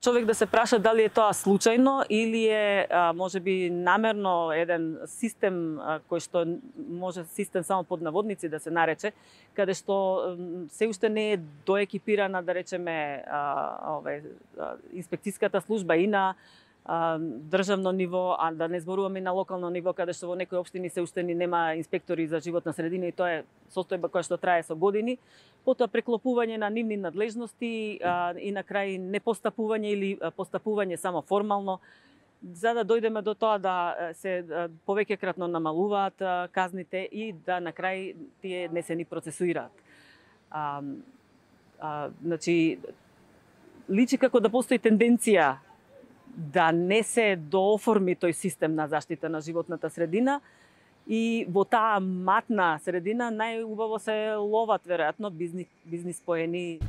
Човек да се праша дали е тоа случајно или е можеби намерно еден систем кој што може систем само под наводници да се нарече, каде што се уште не е доекипирана, да речеме, инспекцијската служба и на државно ниво, а да не зборуваме и на локално ниво, каде што во некои општини се уште ни нема инспектори за животна средина и тоа е состојба која што трае со години. Потоа преклопување на нивни надлежности и на крај непостапување или постапување само формално, за да дојдеме до тоа да се повеќекратно намалуваат казните и да на крај тие не се ни процесуираат. Значи, личи како да постои тенденција да не се дооформи тој систем на заштита на животната средина и во таа матна средина најубаво се ловат веројатно бизнис поени.